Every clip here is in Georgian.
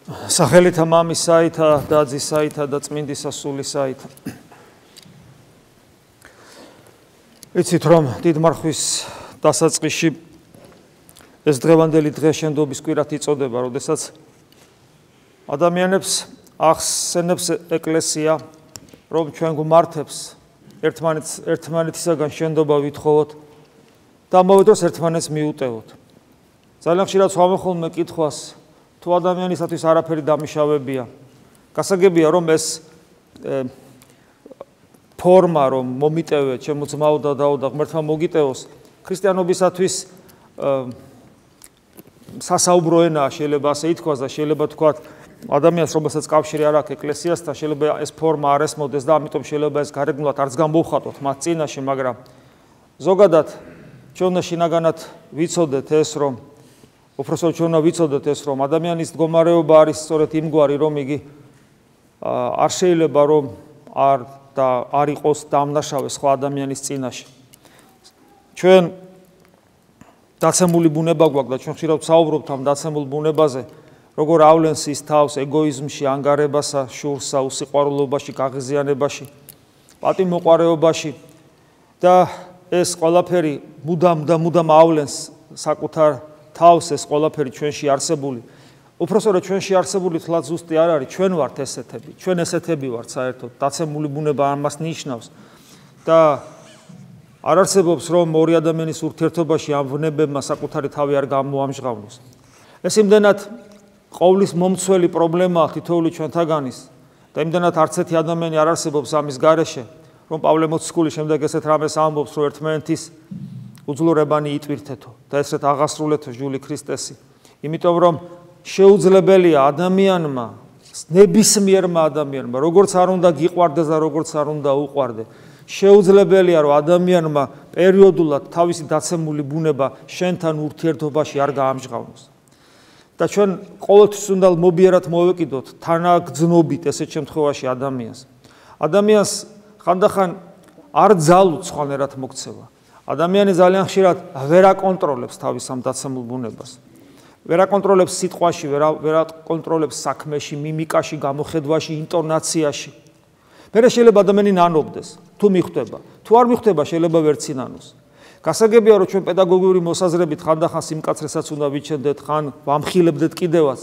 სახელითა მამისაითა და ძისაითა და წმინდისა სულისაითა. იცით რომ დიდ მარხვის დასაწყისში ეს დღევანდელი დღე შენდობის კვირად იწოდება, როდესაც ადამიანებს ახსენებს ეკლესია, რომ ჩვენ გვმართებს ერთმანეთისაგან შენდობა ვითხოვოთ და ამავე დროს ერთმანეთს მიუტევოთ. ძალიან ხშირად ვამბობ ხოლმე კითხვას, თუ ადამიანისათვის არაფერი დამიშავებია, გასაგებია რომ ეს ფორმა რომ მომიტევე ჩემო ძმაო და დაო და ღმერთმა მოგიტევოს, ქრისტიანობისათვის სასაუბრო ენაა, შეიძლება ასე ითქვას და შეიძლება თქვათ ადამიანს რომელსაც კავშირი არ აქვს ეკლესიასთან, შეიძლება ეს ფორმა არ ესმოდეს და ამიტომ შეიძლება ეს გარეგნულად არც გამოვხატოთ მათ წინაშე, მაგრამ ზოგადად ჩვენ უნდა შინაგანად ვიცოდეთ ეს რომ უпросто ჩვენ უნდა ვიცოდეთ ეს რომ ადამიანის მდგომარეობა არის სწორედ იმგვარი რომ იგი არ შეიძლება რომ არ იყოს დამნაშავე სხვა ადამიანის წინაშე. ჩვენ დაცემული ბუნება გვაქვს და ჩვენ ხშირად ვსაუბრობთ ამ დაცემულ ბუნებაზე, როგორ ავლენს ის თავს ეგოიზმში, ანგარებასა, შურსა, უსიყვარულობაში, გაღიზიანებაში, პატიმოყვარეობაში და ეს ყველაფერი მუდამ ავლენს საკუთარ თავს ეს ყველაფერი ჩვენში არსებული. უпросто ჩვენში არსებული თლაც ზუსტი არ არის, ჩვენ ვართ ესეთები, ჩვენ ესეთები ვართ საერთოდ, დაცემული ბუნება ამას ნიშნავს და არ არსებობს რომ ორი ადამიანის ურთიერთობაში ამ ბუნებებმა საკუთარი თავი არ გამოამჟღავნოს. ეს იმდენად ყოვლის მომცველი პრობლემაა თითოეული ჩვენთაგანის და იმდენად არც ერთი ადამიანი არ არსებობს ამის გარეშე, რომ პავლე მოციქული შემდეგ ესეთ რამეს ამბობს, რომ ერთმანეთის უძლურებანი იტვირთეთო და ესეთ აღასრულეთო ჟული ქრისტესი. იმიტომ რომ შეუძლებელია ადამიანმა, ნებისმიერმა ადამიანმა, როგორც არ უნდა გიყვარდეს და როგორც არ უნდა უყვარდე, შეუძლებელია რომ ადამიანმა პერიოდულად თავისი დაცემული ბუნება შენთან ურთიერთობაში არ გაამჟღავნოს. და ჩვენ ყოველთვის უნდა მობიერად მოვეკიდოთ თანაგრძნობით ესეთ შემთხვევაში ადამიანს. ადამიანს ხანდახან არ ძალუთ სხვანაირად მოქცევა. ადამიანი ძალიან ხშირად ვერ აკონტროლებს თავის ამ დაცემულ ბუნებას. ვერ აკონტროლებს სიტყვაში, ვერ აკონტროლებს საქმეში, მიმიკაში, გამოხედვაში, ინტონაციაში. მერე შეიძლება ადამიანი ნანობდეს, თუ მიხვდება. თუ არ მიხვდება, შეიძლება ვერ ცინანოს. გასაგებია რომ ჩვენ პედაგოგიური მოსაზრებით ხანდახან სიმკაცრესაც უნდა ვიჩენდეთ, ხან ვამხილებდეთ კიდევაც.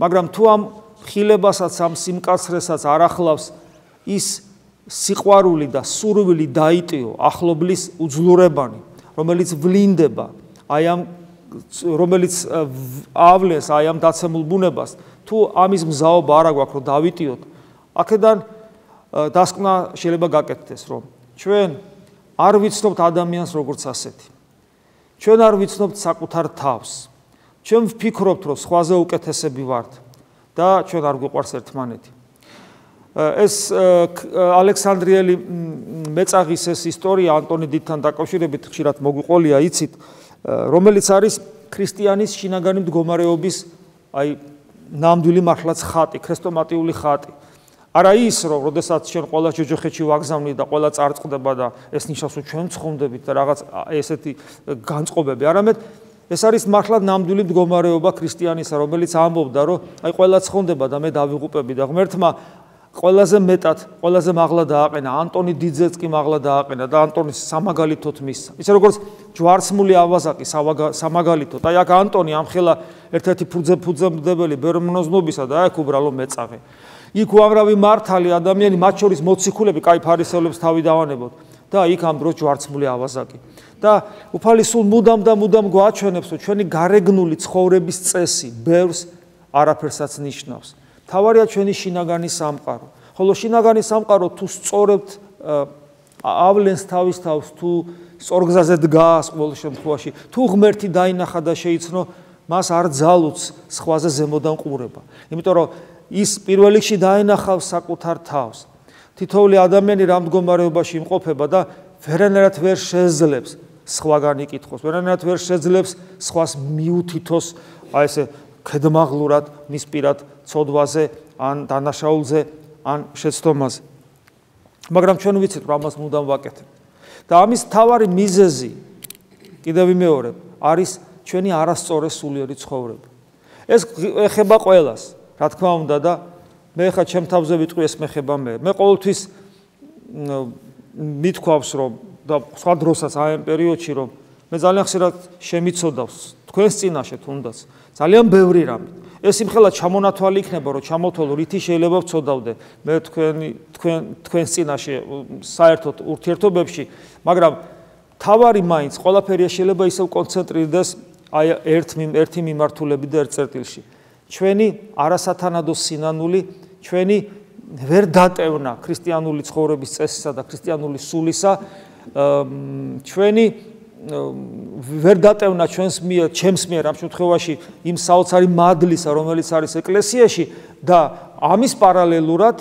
მაგრამ თუ ამ ხილებასაც, ამ სიმკაცრესაც არ ახლავს ის სიყვარული და სურვილი დაიტიო ახლობლის უძლურებანი, რომელიც ვლინდება, რომელიც ავლენს ამ დაცემულ ბუნებას, თუ ამის მზაობა არ აქვს რომ დავიტიოთ, აქედან დასკვნა შეიძლება გაკეთდეს, რომ ჩვენ არ ვიცნობთ ადამიანს როგორც ასეთი. ჩვენ არ ვიცნობთ საკუთარ თავს. ჩვენ ვფიქრობთ, რომ სხვაზე უკეთესები ვართ და ჩვენ არ გვიყვარს ერთმანეთი. ეს ალექსანდრიელი მეწაღის ეს ისტორია ანტონი დიდთან დაკავშირებით ხშირად მოგვიყოლია, იცით, რომელიც არის ქრისტიანის შინაგანი მდგომარეობის ნამდვილი მართლაც ხატი, ქრესტომატიული ხატი. არა ის, რომ როდესაც ჩვენ ყველა ჯოჯოხეთში ვაგზავნით და ყველა წარწყდება და ეს ნიშნავს, რომ ჩვენ ცხონდებით და რაღაც ესეთი განწყობები, არამედ ეს არის მართლაც ნამდვილი მდგომარეობა ქრისტიანისა, რომელიც ამბობდა, რომ ყველა ცხონდება და მე დავიღუპები და ღმერთმა ყველაზე მეტად, ყველაზე მაღლა დააყენა, ანტონი დიდზეც კი მაღლა დააყენა და ანტონის სამაგალითოდ მისცა. ისე როგორც ჯვარცმული ავაზაკი სამაგალითოდ, აი აქ ანტონი ამხელა ერთ-ერთი ფუძემდებელი ბერმნოზნობისა და აქ უბრალო მეწაღე. იქ უამრავი მართალი ადამიანი, მათ შორის მოციქულები, კაი ფარისევლებს თავი დავანებოთ და იქ ამ დროს ჯვარცმული ავაზაკი. და უფალი სულ მუდამ გვაჩვენებს, რომ ჩვენი გარეგნული ცხოვრების წესი ბევრს არაფერსაც ნიშნავს. თავარია ჩვენი შინაგანი სამყარო. ხოლო შინაგანი სამყარო თუ სწორებთ ავლენს თავის თავს, თუ სწორგზაზე დგას ყოველ შემთხვევაში, თუ ღმერთი დაინახა და შეიცნო, მას არ ძალუც სხვაზე ზემოდან ყურება. იმიტომ რომ ის პირველ რიგში დაინახავს საკუთარ თავს. თითოეული ადამიანი რამ მდგომარეობაში იმყოფება და ვერანაირად ვერ შეძლებს სხვაგან იკითხოს, ვერანაირად ვერ შეძლებს სხვას მიუთითოს, ესე ქედმაღლურად მის პირად ცოდვაზე, ან დანაშაულზე, ან შეცდომაზე. მაგრამ ჩვენ ვიცით, რომ ამას მუდამ ვაკეთებ. და ამის მთავარი მიზეზი, კიდევ ვიმეორებ, არის ჩვენი არასწორი სულიერი ცხოვრება. ეს ეხება ყველას. რა თქმა უნდა და მე ხა ჩემ თავზე ვიტყვი ეს მეხება მე ყოველთვის მithქვავს რომ და სხვა დროსაც აი ამ პერიოდში რომ მე ძალიან ხშირად შემიცოდავს თქვენს წინაშე თუნდაც ძალიან ბევრი რამე ეს იმხელა ჩამონათვალი იქნება რომ ჩამოთვალო რითი შეიძლება ვწოდავდე მე თქვენს წინაშე საერთოდ ურთიერთობებში მაგრამ თავარი მაინც ყველაფერი შეიძლება ისევ კონცენტრირდეს აი ერთი მიმართულებით და ერთ წერტილში ჩვენი არასათანადო სინანული ჩვენი ვერ დატევნა ქრისტიანული ცხოვრების წესისა და ქრისტიანული სულისა ჩვენი ვერ დატევნა ჩვენს მიერ ჩემს მიერ ამ შემთხვევაში იმ საოცარი მადლისა რომელიც არის ეკლესიაში და ამის პარალელურად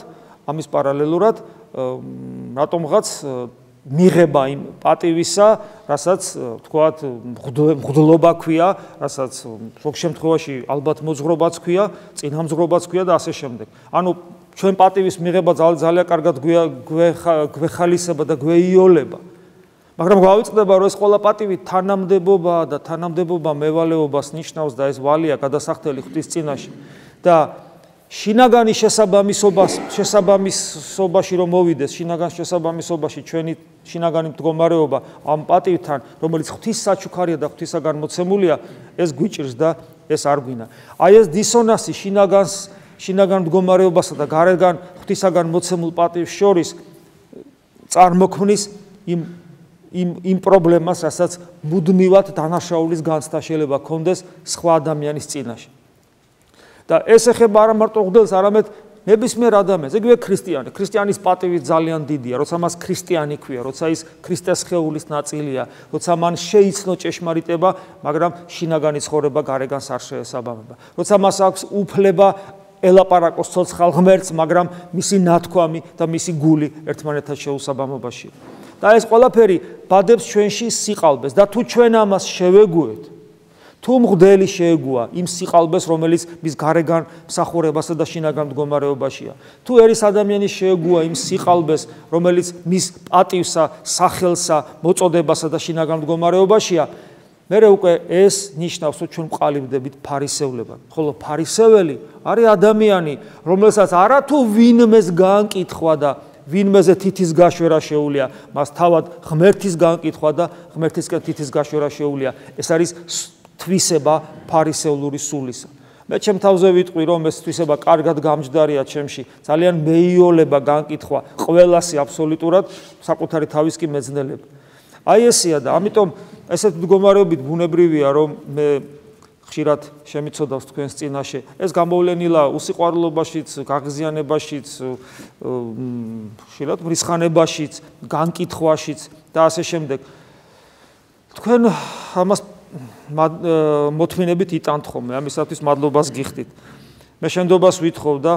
რატომღაც მიღება იმ პატივისა, რასაც თქვათ მღვდლობა ქვია, რასაც ზოგ შემთხვევაში ალბათ მოძღვრობაც ქვია, წინამძღვრობაც ქვია და ასე შემდეგ. ანუ ჩვენ პატივის მიღება ძალიან კარგად გვეხალისება და გვეიოლება. მაგრამ გავიწყდება რომ ეს ყველა პატივი თანამდებობაა და თანამდებობა მევალეობას ნიშნავს და ეს ვალია გადასახდელი ღვთის წინაშე. და შინაგანი შესაბამისობაში რომ მოვიდეს, შინაგან შესაბამისობაში ჩვენი შინაგანი მდგომარეობა ამ პატივთან, რომელიც ღვთის საჩუქარია და ღვთისაგან მოცემულია, ეს გვიჭირს და ეს არ გვინა. აი ეს დისონანსი შინაგან მდგომარეობასა და გარეგან ღვთისაგან მოცემულ პატივს შორის წარმოქმნის იმ პრობლემას, რასაც მუდმივად დანაშაულის განცდა შეიძლება ქონდეს სხვა ადამიანის წინაშე. და ეს ეხება არა მარტო მღვდელს, არამედ ნებისმიერ ადამიანს, იგივე ქრისტიანი. ქრისტიანის პატივი ძალიან დიდია, როცა მას ქრისტიანი ქვია, როცა ის ქრისტეს სხეულის ნაწილია, როცა მან შეიცნო ჭეშმარიტება, მაგრამ შინაგანი ცხოვრება გარეგანს არ შეესაბამება. როცა მას აქვს უფლება ელაპარაკოს ცოცხალ ღმერთს, მაგრამ მისი ნათქვამი და მისი გული ერთმანეთთან შეუსაბამობაშია. და ეს ყველაფერი ბადებს ჩვენში სიყალბეს და თუ ჩვენ ამას შევეგუეთ, თუ მღვდელი შეეგუა იმ სიყალბეს, რომელიც მის გარეგან მსახურებასა და შინაგან მდგომარეობაშია. თუ ერის ადამიანი შეეგუა იმ სიყალბეს, რომელიც მის პატივსა, სახელსა, მოწოდებასა და შინაგან მდგომარეობაშია, მერე უკვე ეს ნიშნავს, რომ ჩვენ ვყალიბდებით ფარისევლებად. ხოლო ფარისეველი არის ადამიანი, რომელსაც არათუ ვინმეს გაანკითხვა და ვინმეზე თითის გაშვერა შეუულია, მას თავად ღმერთის გაანკითხვა და ღმერთისკენ თითის გაშვერა შეუულია. ეს არის თვისება ფარისევლური სულისა. მე ჩემ თავზე ვიტყვი, რომ ეს თვისება კარგად გამჯდარია ჩემში, ძალიან მეიოლება განკითხვა ყველასი აბსოლუტურად, საკუთარი თავის კი მეძნელება. აი ესია და ამიტომ ესეთ მდგომარეობით ბუნებრივია, რომ მე ხშირად შემიცოდავს თქვენს წინაშე. ეს გამოვლენილა უსიყვარულობაშიც, გაღიზიანებაშიც, ხშირად მრისხანებაშიც, განკითხვაშიც და ასე შემდეგ. თქვენ ამას მოთმინებით იტანთ ხოლმე, ამისათვის მადლობას გიხდით. მე შენდობას ვითხოვ და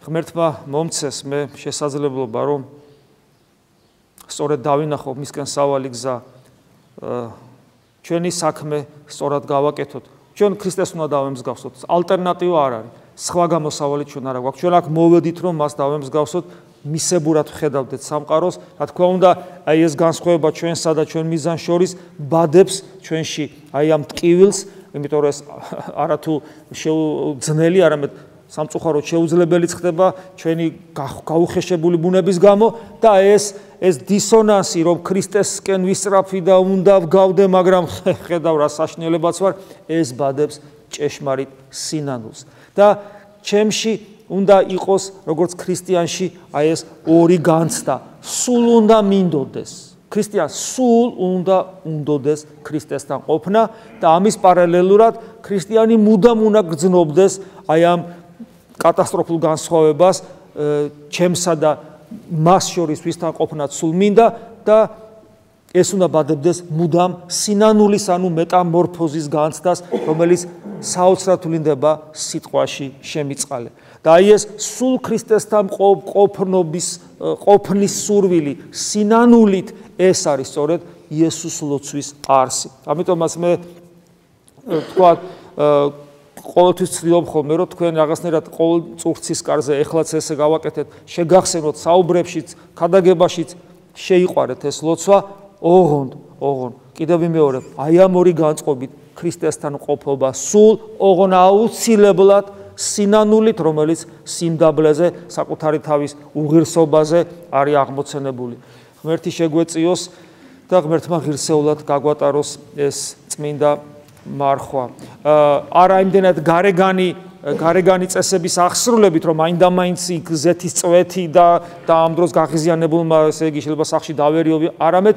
ღმერთმა მომცეს მე შესაძლებლობა, რომ სწორედ დავინახო მისკენ სავალი გზა, ჩვენი საქმე სწორად გავაკეთოთ. ჩვენ ქრისტეს უნდა დავემსგავსოთ, ალტერნატივა არ არის. სხვა გამოსავალი ჩვენ არ აქვს. ჩვენ აქ მოვედით, რომ მას დავემსგავსოთ, მისებურად ვხედავდეთ სამყაროს, რა თქმა უნდა, აი ეს განსხვავება ჩვენსა და ჩვენ მიზანს შორის ბადებს ჩვენში აი ამ ტკივილს, იმიტომ რომ ეს არათუ შეუძნელი, არამედ სამწუხაროდ შეუძლებელიც ხდება ჩვენი გაუხეშებული ბუნების გამო და ეს დისონანსი, რომ ქრისტესკენ ვისწრაფი და უნდა ვგავდე, მაგრამ ხედავ რა საშნელებაც ვარ, ეს ბადებს ჭეშმარიტ სინანულს. და ჩემში უნდა იყოს როგორც ქრისტიანში აი ეს ორი განცდა, სულ უნდა მინდოდეს. ქრისტიანს სულ უნდა უნდოდეს ქრისტესთან ყოფნა და ამის პარალელურად ქრისტიანი მუდამ უნდა გრძნობდეს აი ამ კატასტროფულ განსხვავებას ჩემსა და მას შორის ვისთან ყოფნაც სულ მინდა და ეს უნდა ბადებდეს მუდამ სინანულის ანუ მეტამორფოზის განცდას, რომელიც საოცრად ვლინდება სიტყვაში შემიწყალე. და აი ეს სულ ქრისტესთან ყოფნის სურვილი სინანულით ეს არის სწორედ იესოს ლოცვის არსი. ამიტომაც მე თქვა ყოველთვის ცდილობ ხოლმე, რომ თქვენ რაღაცნაირად ყოველ წურთის კარზე ეხლაც ესე გავაკეთეთ, შეგახსენოთ საუბრებშიც, ქადაგებაშიც, შეიყვარეთ ეს ლოცვა, ოღონდ. კიდევ ვიმეორებ, აი ამ ორი განწყობით ქრისტესთან ყოფობა სულ ოღონ აუცილებლად სინანულით, რომელიც სიმდაბლეზე, საკუთარი თავის უღირსობაზე არის აღმოცენებული. ღმერთი შეგვეწიოს და ღმერთმა ღირსეულად გაგვატაროს ეს წმინდა მარხვა. არა იმდენად გარეგანი წესების აღსრულებით, რომ მაინდა-მაინც ზეთის წვეთი და ამ დროს გაღიზიანებულმა, ესე იგი შეიძლება სახში დავერიობი, არამედ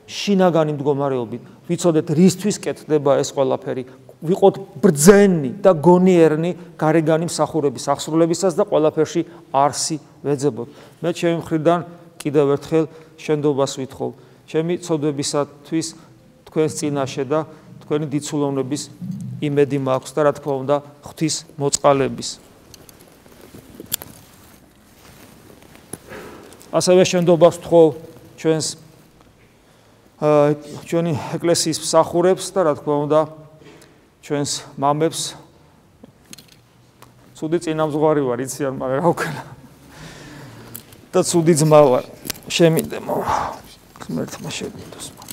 შინაგანი მდგომარეობით. ვიცოდეთ რისთვის კეთდება ეს ყველაფერი. ვიყოთ ბრძენი და გონიერნი გარეგანი მსახურების აღსრულებისას და ყველაფერში არსი ვეძებოთ. მე ჩემი მხრიდან კიდევ ერთხელ შენდობას ვითხოვ. ჩემი ცოდვებისათვის თქვენს წინაშე და თქვენი დიცულოვნების იმედი მაქვს და რა თქმა უნდა ღვთის მოწყალების. ასევე შენდობას ვთხოვ ჩვენი ეკლესიის მსახურებს და რა თქმა უნდა ჩვენს მამებს. ცუდი წინამძღვარი ვარ, იციან, მაგრამ რა ვქნა. და ცუდი ძმა ვარ. შემინდე მოვა. ღმერთმა შეგდოს.